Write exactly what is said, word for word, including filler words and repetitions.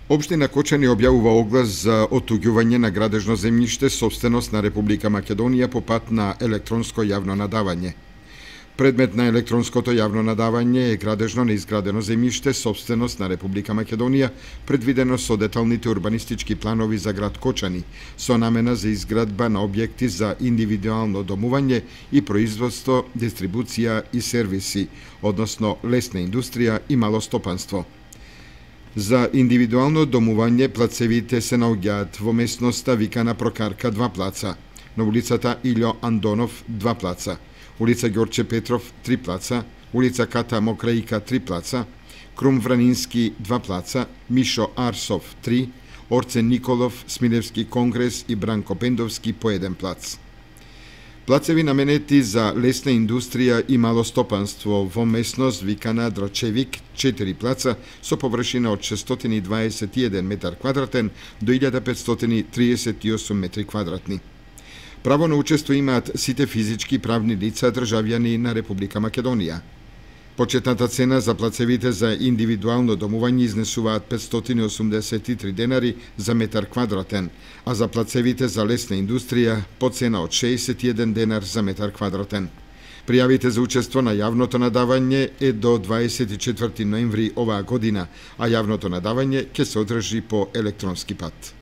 Општина Кочани објавува оглас за оттуѓување на градежно земјиште сопственост на Република Македонија по пат на електронско јавно надавање. Предмет на електронското јавно надавање е градежно неизградено земјиште сопственост на Република Македонија, предвидено со деталните урбанистички планови за град Кочани, со намена за изградба на објекти за индивидуално домување и производство, дистрибуција и сервиси, односно лесна индустрија и мало стопанство. За индивидуално домување плацевите се наоѓаат во местноста викана Прокарка два плаца, на улицата Илјо Андонов два плаца, улица Ѓорче Петров три плаца, улица Ката Мокраика три плаца, Крум Вранински два плаца, Мишо Арсов три, Орцен Николов, Смилевски Конгрес и Бранко Пендовски по еден плац. Плацеви наменети за лесна индустрија и мало стопанство во местност викана Драчевик четири плаца со површина од шестстотини и дваесет и еден метар квадратен до илјада петстотини триесет и осум метри квадратни. Право на учество имаат сите физички и правни лица државјани на Република Македонија. Почетната цена за плацевите за индивидуално домување изнесуваат петстотини и осумдесет и три денари за метар квадратен, а за плацевите за лесна индустрија по цена од шеесет и еден денар за метар квадратен. Пријавите за учество на јавното надавање е до дваесет и четврти ноември оваа година, а јавното надавање ќе се одржи по електронски пат.